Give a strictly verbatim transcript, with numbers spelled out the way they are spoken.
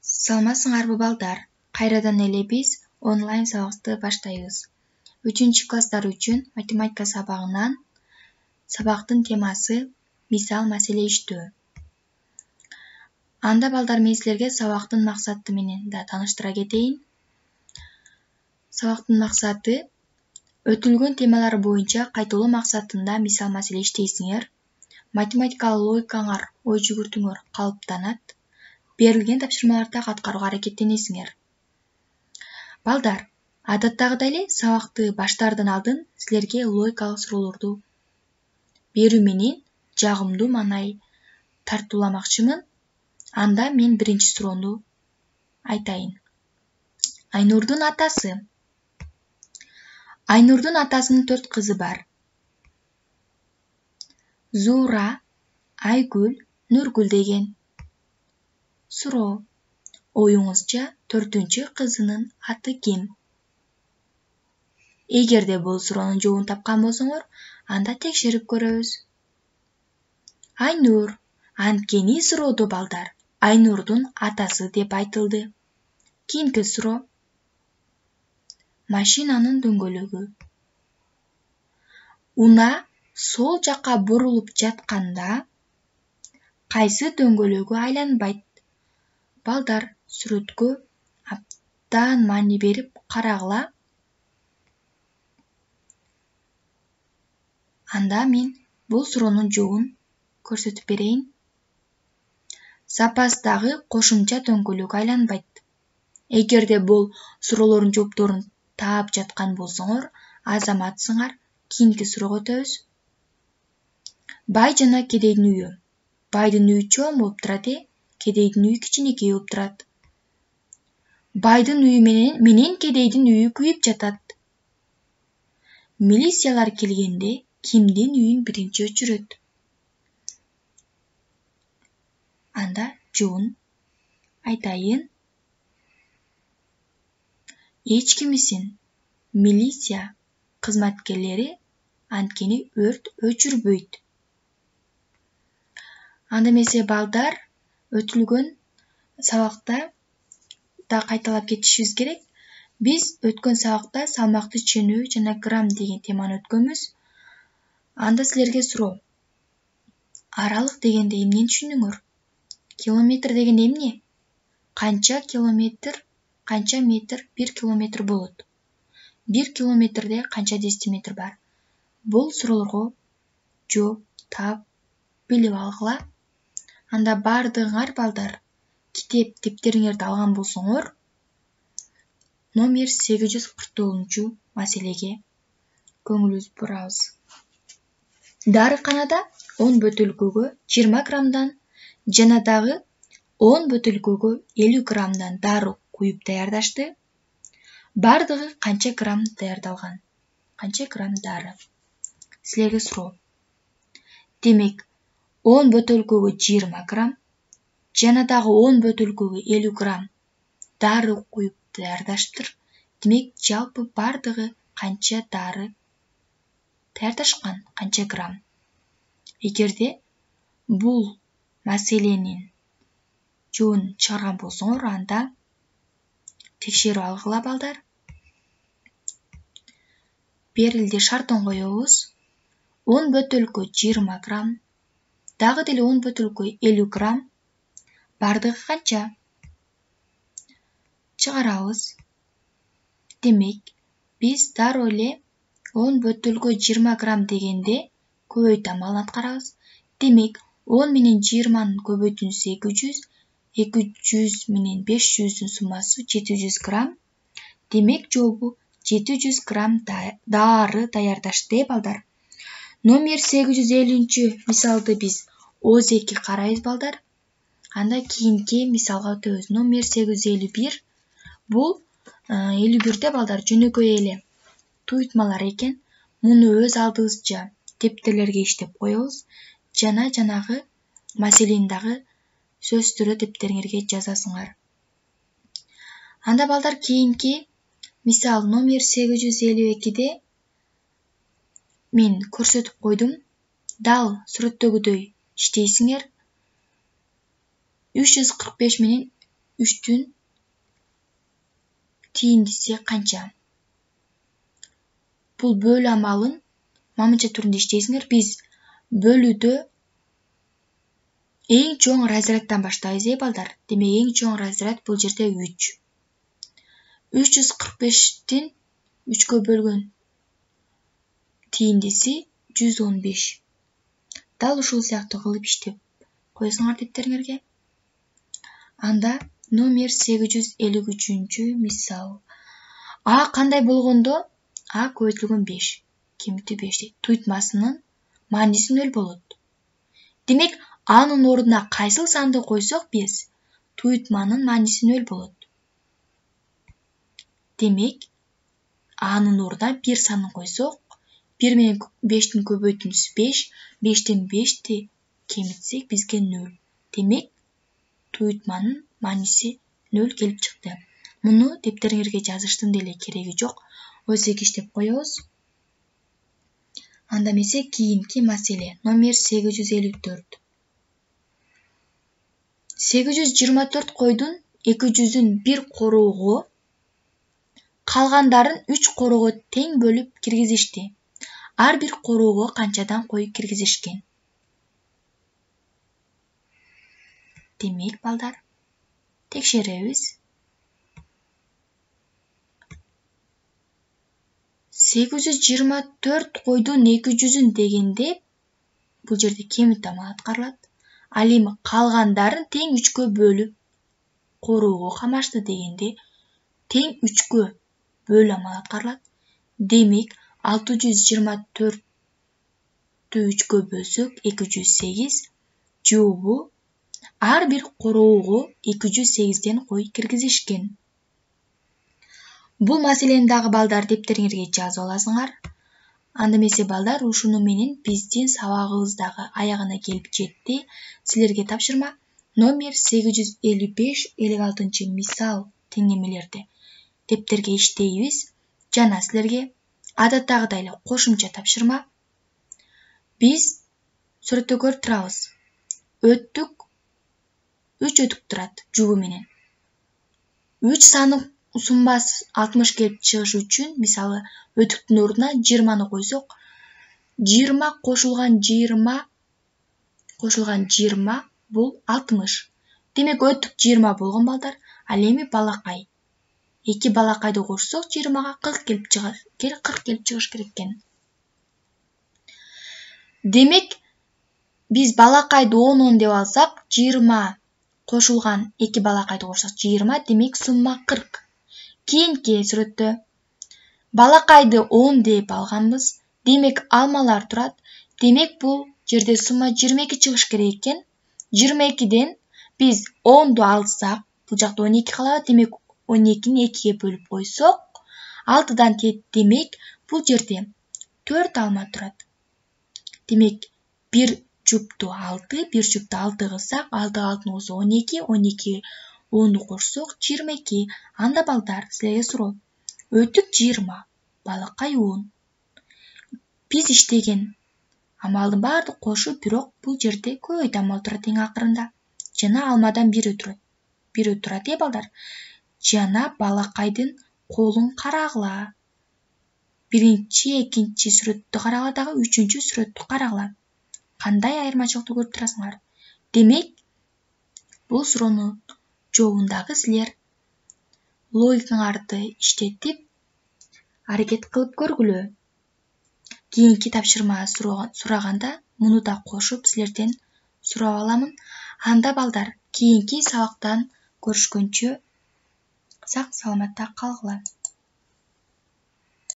Саламатсыңарбы балдар? Кайрадан эле биз онлайн сабакты баштайбыз. үчүнчү класстар үчүн математика сабагынан сабактын темасы мисал маселе иштөө. Анда балдар мен силерге сабактын максаты менен да тааныштыра кетейин. Сабактын максаты өтүлгөн темалар боюнча кайталоо максатында мисал маселе иштейсиңер. Математикалык логикаңар, ой жүгүртүүңөр калыптанат. Берилген тапшырмаларды аткарууга аракеттенесиңер. Балдар, адаттагыдай эле сабакты баштаардан алдын силерге логикалык суроолорду берүү менен жагымдуу маанай тартууламакчымын. Анда мен биринчи суроону айтайын. Айнурдун атасы. Айнурдун атасынын төрт кызы бар. Зуура, Айгүл, Нургүл деген. Суроо: оюңузча төртүнчү кызынын аты ким? Эгерде бул суроонун жообун тапкан болсоңор, анда текшерип көрөбүз. Айнур. Анткени суроодо балдар Айнурдун атасы деп айтылды. Кийинки суроо: машинанын дөңгөлөгү. Унаа сол жакка бурулуп жатканда кайсы дөңгөлөгү айланбайт? Балдар, сүрөткө абдан маани берип карагыла. Анда мен бул суроонун жообун көрсөтүп берейин. Запастагы кошумча дөңгөлөк айланбайт. Эгерде бул суроолордун жоопторун таап жаткан болсоңор, азаматсыңар. Кийинки суроого өтөбүз. Бай жана кедейдин үйү. Байдын үйү чоң болуп турат, э? Кедейдин үйү кичинекей болуп турат. Байдын үйү менен менен кедейдин үйү күйүп жатат. Милициялар келгенде кимдин үйүн биринчи өчүрөт? Анда жообун айтайын. Эч кимисин. Милиция кызматкерлери, анткени өрт өчүрбөйт. Анда эмесе балдар, өтүлгөн сабакта да кайталап кетишибиз керек. Биз өткөн сабакта салмакты ченөө жана грамм деген теманы өткөнбүз. Анда силерге суроо: аралык дегенде эмнени түшүндүңөр? Километр деген эмне? Канча километр, канча метр бир километр болот? Бир километрде канча десятиметр бар? Бул суроолорго жооп таап билип алгыла. Анда бардыгыңар балдар китеп тептериңерди алган болсоңор, номер сегиз жүз кырк тогузунчу маселеге көңүлүбүздү бурабыз. Дарыканада он бөтөлкөгө жыйырма граммдан жана дагы он бөтөлкөгө элүү граммдан дары куюп даярдашты. Бардыгы канча грамм даярдалган? Канча грамм дары? Силерге суроо. Демек, он бөтөлкөгө жыйырма грамм жана дагы он бөтөлкөгө элүү грамм дары куюп даярдаштыр. Демек, жалпы бардыгы канча дары даярдашкан? Канча грамм? Эгерде бул маселенин жообун чыгарган болсоңор, анда текшерип алгыла балдар. Берилди шартын коебуз. он бөтөлкө жыйырма грамм, дагы деле он бөтөлкө элүү грамм. Бардыгы канча? Чыгарабыз. Демек, биз дароо эле он бөтөлкө жыйырма грамм дегенде көбөйтүү амалын аткарабыз. Демек, он менен жыйырманын көбөйтүүсү эки жүз, эки жүз менен беш жүздүн суммасы жети жүз грамм. Демек, жообу жети жүз грамм дары даярдашты, э балдар. Номер сегиз жүз элүүнчү мисалды биз ооз эки карайбыз балдар. Анда кийинки мисалга өтөбүз. Номер сегиз жүз элүү бир. Бул элүү бирде балдар жөнөкөй эле туйтмалар экен. Муну өз алдыбызча тептерлерге иштеп коебуз. Жана жанагы маселени дагы сөзсүздөрдө тептериңерге жазасыңар. Анда балдар кийинки мисал номер сегиз жүз элүү экиде мен көрсөтүп койдум. Дал сүрөттөгүдөй иштейсиңер. үч жүз кырк беш менен үчтүн тийиндиси канча? Бул бөлүү амалын мамынча түрүндө иштейсиңер. Биз бөлүүдө эң чоң разряддан баштайбыз, э балдар. Демек эң чоң разряд бул жерде үч. үч жүз кырк бештин үчкө бөлгөн тийиндиси жүз он беш. Дал ушул сыяктуу кылып иштеп койсуңар дептериңерге. Анда номер сегиз жүз элүү үчүнчү мисал. А кандай болгондо? А көбөйтүлгөн беш, кемитүү беш дейт. Туйтмасынын мааниси нөл болот. Демек, анын ордуна кайсыл санды койсок биз, туйтманын мааниси нөл болот. Демек, анын ордуна бир санын койсок, бир менен бештин көбөйтүүсү беш, бештен бешти кемитсек бизге нөл. Демек, туйтманын мааниси нөл келип чыкты. Муну дептериңерге жазыштын деле кереги жок. Өзүк иштеп коебуз. Анда эмесе кийинки маселе номер сегиз жүз элүү төрт. сегиз жүз жыйырма төрт койдун эки жүзүн бир короого, калгандарын үч короого тең бөлүп киргизишти. Ар бир короого канчадан кой киргизишкен? Демек, балдар, текшеребиз. сегиз жүз жыйырма төрт койдун эки жүзүн дегенде бул жерде кемитүү амалы аткарылат. Ал эми калгандарын тең үчкө бөлүп короого камашты дегенде тең үчкө бөлүү амалы аткарылат. Демек, алты жүз жыйырма төрттү үчкө бөлсөк эки жүз сегиз жообу ар бир короого эки жүз сегизден кой киргизишкен. Бул маселени дагы балдар дептериңерге жазып аласыңар. Анда эмесе балдар, ушуну менен биздин сабагыбыз дагы аягына келип жетти. Силерге тапшырма номер сегиз жүз элүү беш элүү алтынчы мисал теңемелерди дептерге иштейбиз. Жана силерге адаттагыдай эле кошумча тапшырма. Биз сүрөттө көрүп турабыз. Өттүк үч өтүк турат жугу менен. үч саны суммасы алтымыш келип чыгыш үчүн, мисалы, өтүктүн ордуна жыйырманы койсок, жыйырма кошулган жыйырма кошулган жыйырма бул алтымыш. Демек, өтүк жыйырма болгон балдар. Ал эми балакай. эки балакайды кошсок, жыйырмага кырк келип чыгат. кырк келип чыгыш керек экен. Демек, биз балакайды он он деп алсак, жыйырма кошулган эки балакайды кошсок жыйырма, демек сумма кырк. Кийинки сүрөттө балакайды он деп алганбыз. Демек, алмалар турат. Демек, бул жерде сумма жыйырма эки чыгыш керек экен. жыйырма экиден биз онду алсак, бул жакта он эки калат. Демек, он экини экиге бөлүп койсок, алтыдан тет. Демек, бул жерде төрт алма турат. Демек, бир жупту алты, бир жупту алты кылсак, алты алтыны кошсок он эки, он эки онду кошсок жыйырма эки. Анда балдар, силерге суроо. Өтүк жыйырма, балакай он. Биз иштеген амалдын баардык кошу, бирок бул жерде көбөйтүү амалы турат эң акырында. Жана алмадан бирөө турат. Бирөө турат, э балдар. Жана балакайдын колун карагыла. Биринчи, экинчи сүрөттү карагыла дагы, үчүнчү сүрөттү карагыла. Кандай айырмачылыкты көрүп турасыңар? Демек, бул суроонун жообундагы силер логикаңарды иштетип, аракет кылып көргүлө. Кийинки тапшырма сураганда муну да кошуп силерден сурап аламын. Анда балдар, кийинки сабактан көрүшкөнчө сак саламатта калгыла.